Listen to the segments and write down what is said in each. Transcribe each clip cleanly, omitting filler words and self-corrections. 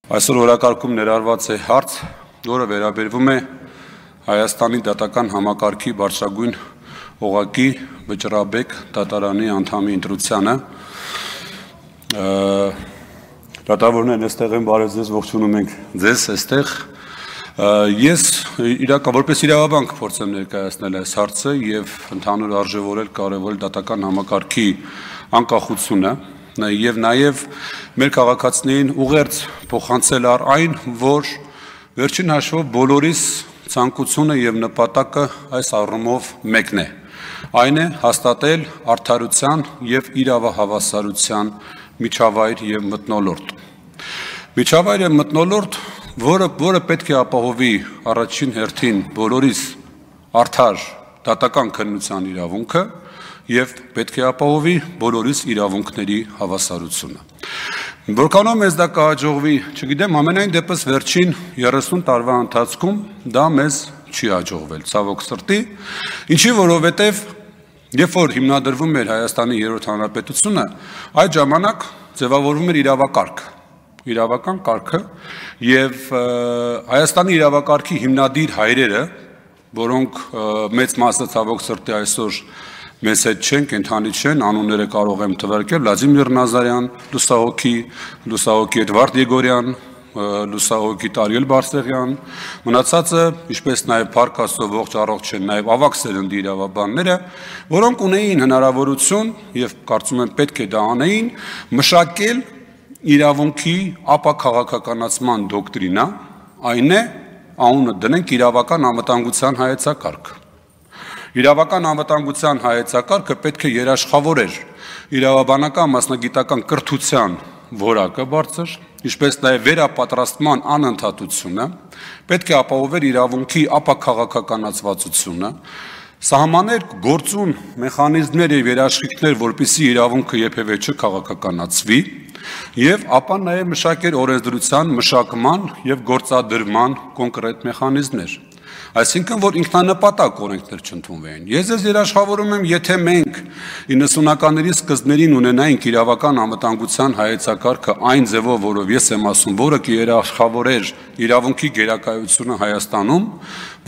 Այսօր օրակարգում ներառված է հարց, որը վերաբերվում է Հայաստանի դատական համակարգի բարձրագույն օղակի Վճռաբեկ դատարանի անդամի ընտրությանը։ Դատավորներն այստեղ են, բարև ձեզ, ողջունում ենք ձեզ այստեղ։ Ես որպես իրավաբանք փորձեմ ներկայացնել այս հարցը եւ ընդհանուր արժևորել կարևորել դատական համակարգի անկախությունը եւ նաեւ մեր քաղաքացիներին ուղերձ փոխանցել առ այն, որ վերջին հաշվով բոլորիս ցանկությունը եւ նպատակը այս առումով մեկն է։ Այն է հաստատել արդարության եւ իրավահավասարության միջավայր եւ մթնոլորտ։ Միջավայր եւ մթնոլորտ, որը պետք է ապահովի առաջին հերթին բոլորիս արդար դատական քննության իրավունքը եւ պետք է ապահովի բոլորիս իրավունքների հավասարությունը։ Որքանով մեզ դա կհաջողվի, չգիտեմ, ամենայն դեպս վերջին 30 տարվա ընթացքում դա մեզ չի հաջողվել, ցավոք սրտի, ինչի որովհետեւ երբ որ հիմնադրվում էր Հայաստանի երրորդ հանրապետությունը, այդ ժամանակ ձևավորվում էր իրավական կարգը եւ Հայաստանի իրավակարգի հիմնադիր հայրերը, որոնք մեծ մասը ցավոք սրտի այսօր մեզ հետ չեն, կենթանի չեն, անունները կարող եմ թվարկել, Վլադիմիր Նազարյան, լուսահոգի Էդվարդ Եգորյան, լուսահոգի Տարիել Բարսեղյան, մնացածը, ինչպես նաև Փառք Աստծո ողջ առողջ են նաև ավագ սերնդի իրավաբանները, որոնք ունեին հնարավորություն եւ կարծում եմ պետք է դա անեին, մշակել իրավունքի ապաքաղաքականացման դոկտրինա, այն է, անունը դնենք իրավական անվտանգության հայեցակարգ։ Իրավական անվտանգության հայեցակարգը պետք է երաշխավորեր իրավաբանական մասնագիտական կրթության որակը բարձր, ինչպես նաև վերապատրաստման անընդհատությունը, պետք է ապահովեր իրավունքի ապաքաղաքականացվածությունը, սահմաններ գործուն մեխանիզմներ եւ երաշխիքներ, որպեսզի իրավունքը երբևէ չքաղաքականացվի, եւ ապա նաև մշակեր օրենսդրության մշակման եւ գործադրման կոնկրետ մեխանիզմներ։ Այսինքն, որ ինքնանպատակ օրենքներ չընդունվեն։ Ես ձեզ երաշխավորում եմ, եթե մենք 90-ականների սկզբներին ունենայինք իրավական անվտանգության հայեցակարգը այն ձևով, որով ես եմ ասում, որը կերաշխավորեր իրավունքի գերակայությունը Հայաստանում,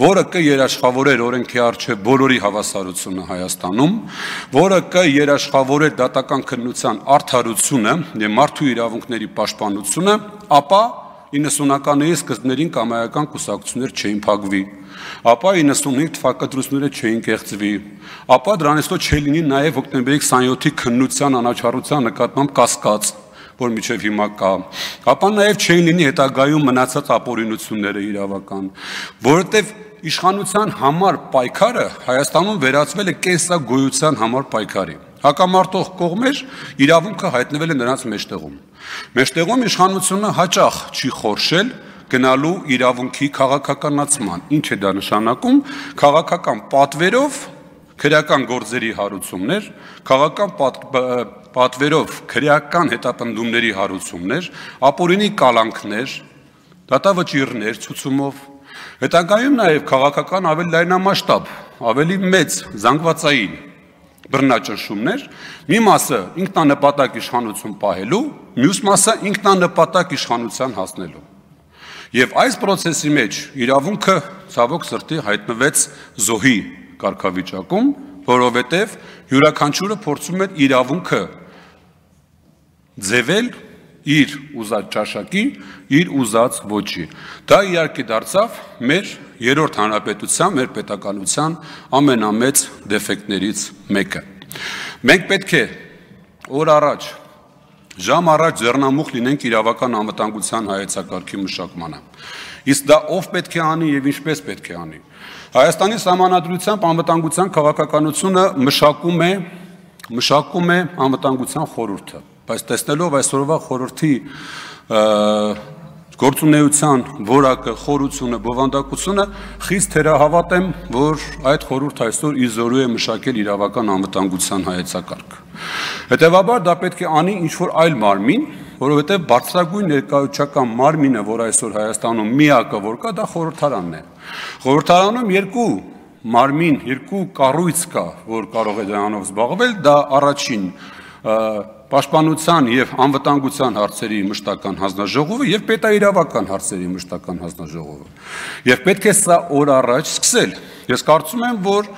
որը կերաշխավորեր օրենքի առջև բոլորի հավասարությունը Հայաստանում, որը կերաշխավորեր դատական քննության արդարությունը եւ մարդու իրավունքների պաշտպանությունը, ապա 90-ականների սկզբներին կամայական կուսակցություններ չէին փակվի, ապա 95 թվակադրությունները չէին կեղծվի, ապա դրանից հետո չլինի նաև հոկտեմբերի 27-ի քննության անաչառության նկատմամբ կասկած, որ մինչև հիմա կա, ապա նաև չէին լինի հետագայում մնացած ապօրինությունները իրավական, որովհետև իշխանության համար պայքարը Հայաստանում վերածվել է կենսագոյության համար պայքարի։ Հակամարտող կողմեր իրավունքը հայտնվել է նրանց մեջտեղում։ Մեջտեղում իշխանությունը հաճախ չի խորշել գնալու իրավունքի քաղաքականացման։ Ինչ է դա նշանակում։ Քաղաքական պատվերով քրեական գործերի հարուցումներ, քաղաքական պատվերով քրեական հետապնդումների հարուցումներ, ապօրինի կալանքներ, դատավճիռներ ցուցումով, հետագայում նաև քաղաքական ավելի լայնամասշտաբ, ավելի մեծ զանգվածային բռնաճնշումներ, մի մասը ինքնանպատակ իշխանություն պահելու, մյուս մասը ինքնանպատակ իշխանության հասնելու։ Եվ այս process-ի մեջ իրավունքը ցավոք սրտի հայտնվեց զոհի կարգավիճակում, որովհետև յուրաքանչյուրը փորձում էր իրավունքը ձևել իր ուզած ճաշակի, իր ուզած ոճի։ Դա իհարկե դարձավ մեր երրորդ հանրապետության, մեր պետականության ամենամեծ դեֆեկտներից մեկը։ Մենք պետք է օր առաջ, ժամ առաջ ձեռնամուխ լինենք իրավական անվտանգության հայեցակարգի մշակմանը։ Իսկ դա ով պետք է անի եւ ինչպես պետք է անի։ Հայաստանի Սահմանադրությամբ անվտանգության քաղաքականությունը մշակում է անվտանգության խորհուրդը, բայց տեսնելով այսօրվա խորհրդի գործունեության որակը, խորությունը, բովանդակությունը, խիստ թերահավատ եմ, որ այդ խորհուրդը այսօր իզորու է մշակել իրավական անվտանգության հայեցակարգ։ Հետևաբար դա պետք է անի ինչ-որ այլ մարմին, որովհետև բարձրագույն ներկայացուցչական մարմինը, որ այսօր Հայաստանում միակը որ կա, դա խորհրդարանն է։ Խորհրդարանում երկու մարմին, երկու կառույց կա, որ կարող է դրանով զբաղվել, դա առաջին Պաշտպանության եւ անվտանգության հարցերի մշտական հանձնաժողովը եւ պետաիրավական հարցերի մշտական հանձնաժողովը։ Եվ պետք է սա օր առաջ սկսել։ Ես կարծում եմ, որ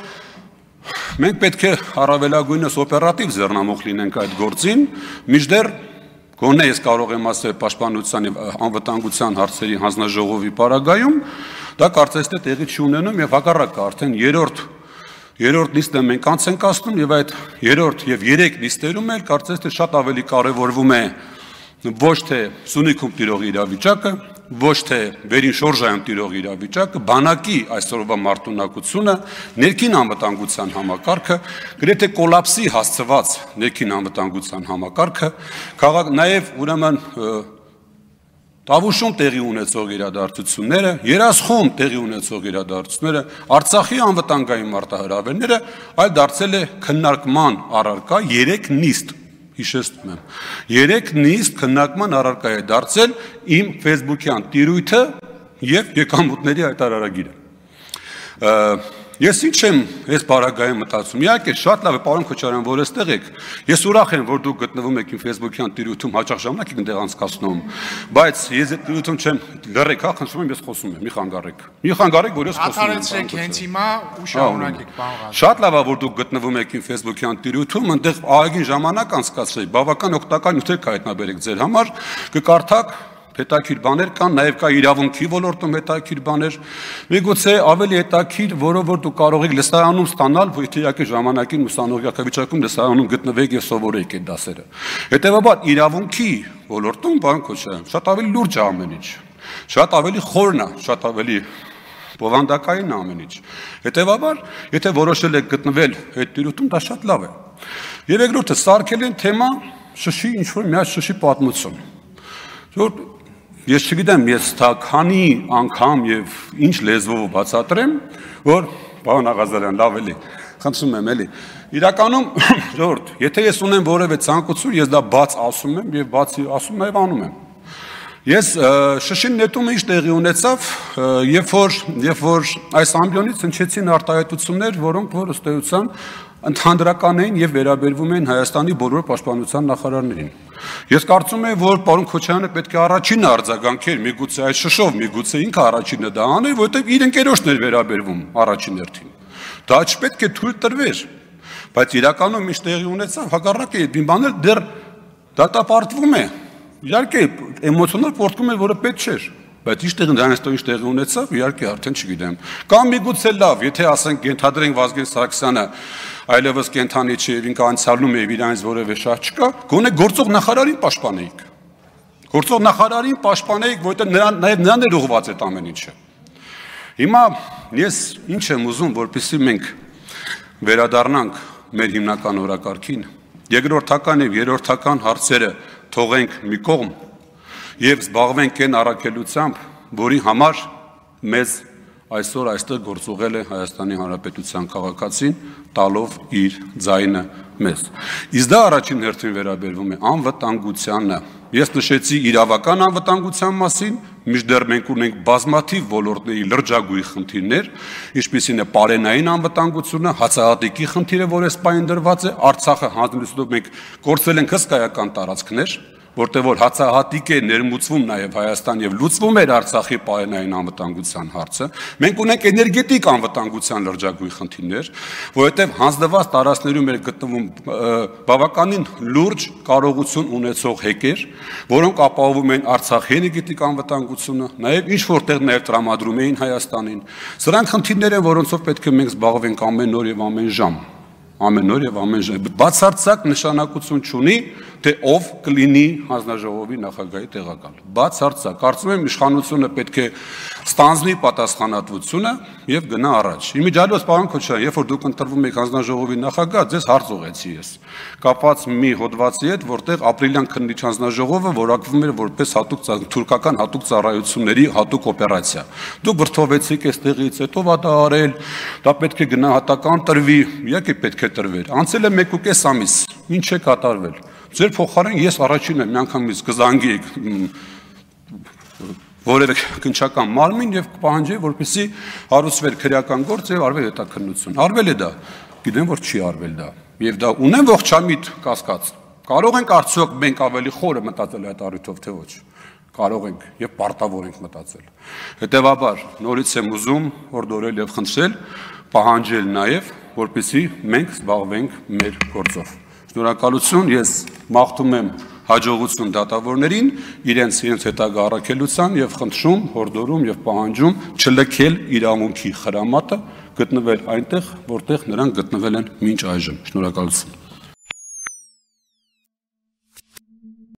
մենք պետք է առավելագույնս օպերատիվ ձեռնամուխ լինենք այդ գործին, մինչդեռ գոնե ես կարող եմ ասել պաշտպանության եւ անվտանգության հարցերի հանձնաժողովի պարագայում, դա կարծես թե տեղի չունենում եւ հակառակը արդեն երրորդ նիստը մենք անց ենք ասնում եւ այդ երրորդ եւ երեք նիստերում էլ կարծես թե շատ ավելի կարեւորվում է ոչ թե Սյունիքում տիրող իրավիճակը, ոչ թե վերին շորժայում տիրող իրավիճակը, բանակի այսօրվա մարտունակությունը, ներքին անվտանգության համակարգը, գրեթե կոլապսի հասցված ներքին անվտանգության համակարգը, նաեւ ուրեմն Տավուշում տեղի ունեցող իրադարձությունները, Երասխում տեղի ունեցող իրադարձությունները, Արցախի անվտանգային մարտահրավերները այլ դարձել է քննարկման առարկա 3 նիստ, հիշեցնում եմ, 3 նիստ քննարկման առարկա է դարձել իմ Facebook-յան տիրույթը եւ եկամուտների հայտարարագիրը։ Ես ինչ եմ այս բարագայում մտածում, իհարկե շատ լավ է, պարոն Քոչարյան, որ այստեղ եք, ես ուրախ եմ, որ դուք գտնվում եք իմ Facebook-յան տիրույթում, հաճախ ժամանակ եք այնտեղ անցկացնում, բայց ես այդ տիրույթում չեմ, լռեք, հա, խնդրում եմ, ես խոսում եմ, մի խանգարեք, որ ես խոսում եմ։ Աթարեցեք հենց հիմա ու շարունակեք, պարոն Ղազարյան։ Շատ լավ է, որ դուք գտնվում եք իմ Facebook-յան տիրույթում, այնտեղ ահագին ժամանակ անցկացրեք, բավական օգտակար նյութեր կհայտնաբերեք ձեր համար, կկարդաք հետաքրքիր բաներ կան, նաև կա իրավունքի ոլորտում հետաքրքիր բաներ, միգուցե ավելի հետաքրքիր, որով որ դուք կարող եք լսարանում ստանալ, եթե իհարկե ժամանակին ուսանողական լսարանում գտնվեք եւ սովորեք այդ դասերը։ Հետևաբար իրավունքի ոլորտում, պարոն Քոչարյան, շատ ավելի լուրջ է ամեն ինչ, շատ ավելի խորն է, շատ ավելի բովանդակային է ամեն ինչ։ Հետևաբար, եթե որոշել եք գտնվել այդ տիրույթում, դա շատ լավ է։ Եվ երկրորդը, սարքել են թեմա շշի ինչ-որ մի հատ շշի պատմություն։ Ես չգիտեմ, ես քանի անգամ եւ ինչ լեզվով բացատրեմ, որ պարոն Ղազարյան, լավ էլի, խնդրում եմ էլի։ Իրականում, ժողովուրդ, եթե ես ունեմ որևէ ցանկություն, ես դա բաց ասում եմ եւ բացի ասում նաեւ անում եմ։ Ես շշին նետումը ինչ տեղի ունեցավ, երբ որ այս ամբիոնից հնչեցին արտահայտություններ, որոնք որ ըստ էության ընդհանրական էին եւ վերաբերվում էին Հայաստանի բոլոր պաշտպանության նախարարներին։ Ես կարծում եմ, որ պարոն Քոչարյանը պետք է առաջինը արձագանքեր, միգուցե այդ շշով, միգուցե ինքը առաջինը դա աներ, որովհետեւ իր ընկերոջն էր վերաբերվում առաջին հերթին։ Դա չպետք է թույլ տրվեր, բայց իրականում ինչ տեղի ունեցավ, հակառակը այդ բաններ դեռ դատապարտվում է։ Իհարկե, էմոցիոնալ պորտկում էր, որը պետք չէր, բայց ինչ տեղի ունեցավ, իհարկե արդեն չգիտեմ։ Կամ միգուցե լավ, եթե ասենք ենթադրենք Վազգեն Սարգսյանը այլևս կենթանի չէ, ինքը անցյալում է, իրանից որևէ շահ չկա, գոնե գործող նախարարին պաշտպանեիք։ Գործող նախարարին պաշտպանեիք, որովհետև նրան էր ուղղված այդ ամեն ինչը։ Հիմա ես ինչ եմ ուզում, որպեսզի մենք վերադառնանք մեր հիմնական օրակարգին, երկրորդական եւ երրորդական հարցերը թողենք մի կողմ եւ զբաղվենք այն առաքելությամբ, որի համար մեզ այսօր այստեղ գործուղել է Հայաստանի Հանրապետության քաղաքացին, տալով իր ձայնը մեզ։ Իսկ դա առաջին հերթին վերաբերվում է անվտանգությանը։ Ես նշեցի իրավական անվտանգության մասին, մինչդեռ մենք ունենք բազմաթիվ ոլորտների լրջագույն խնդիրներ, ինչպիսին է պարենային անվտանգությունը, հացահատիկի խնդիրը, որ այս պահին դրված է, Արցախը հանձնեցնելով մենք կորցրել ենք հսկայական տարածքներ, որտեղ որ հացահատիկ է ներմուծվում նաև Հայաստան եւ լուծվում էր Արցախի պարենային անվտանգության հարցը, մենք ունենք էներգետիկ անվտանգության լրջագույն խնդիրներ, որովհետեւ հանձնված տարածքներում էր գտնվում բավականին լուրջ կարողություն ունեցող հեկեր, որոնք ապահովում են Արցախի էներգետիկ անվտանգությունը, նաև ինչ որտեղ նաև տրամադրում էին Հայաստանին։ Սրանք խնդիրներ են, որոնցով պետք է մենք զբաղվենք ամեն օր եւ ամեն ժամ։ Ամեն օր եւ ամեն ժամ։ Բացարձակ նշանակություն չունի, թե ով կլինի հանձնաժողովի նախագահի տեղակալ։ Բացարձակ, կարծում եմ իշխանությունը պետք է ստանձնի պատասխանատվությունը եւ գնա առաջ։ Իմիջիալոց, պարոն Քոչարյան, երբ որ դուք ընտրվում եք հանձնաժողովի նախագահ, ձեզ հարց ուղեցի ես։ Կապված մի հոդվածի հետ, որտեղ ապրիլյան քննիչ հանձնաժողովը որակվում էր որպես թուրքական հատուկ ծառայությունների հատուկ օպերացիա։ Դուք վրթովեցիք այստեղից, հետո դա արել, դա պետք է գնահատական տրվի, իհարկե պետք է տրվեր։ Անցել է 1.5 ամիս, ինչ է կատարվել։ Ձեր փոխարեն ես առաջինը միանգամից կզանգեի որևէ քննչական մարմին եւ կպահանջեի, որպեսզի հարուցվեր քրեական գործ եւ արվեր հետաքննություն։ Արվել է դա, գիտեմ որ չի արվել դա։ Եվ դա ունեմ ողջամիտ կասկած, Կարող ենք արդյոք մենք ավելի խորը մտածել այդ առիթով, թե ոչ։ Կարող ենք եւ պարտավոր ենք մտածել։ Հետևաբար, նորից եմ ուզում հորդորել եւ խնդրել, պահանջել նաեւ, որպեսզի մենք զբաղվենք մեր գործով։ Շնորհակալություն, ես մաղթում եմ հաջողություն դատավորներին, իրենց հետագա առաքելության եւ խնդրում, հորդորում եւ պահանջում չլքել իրավունքի խրամատը, գտնվել այնտեղ, որտեղ նրանք գտնվել են մինչ այժմ։ Շնորհակալություն։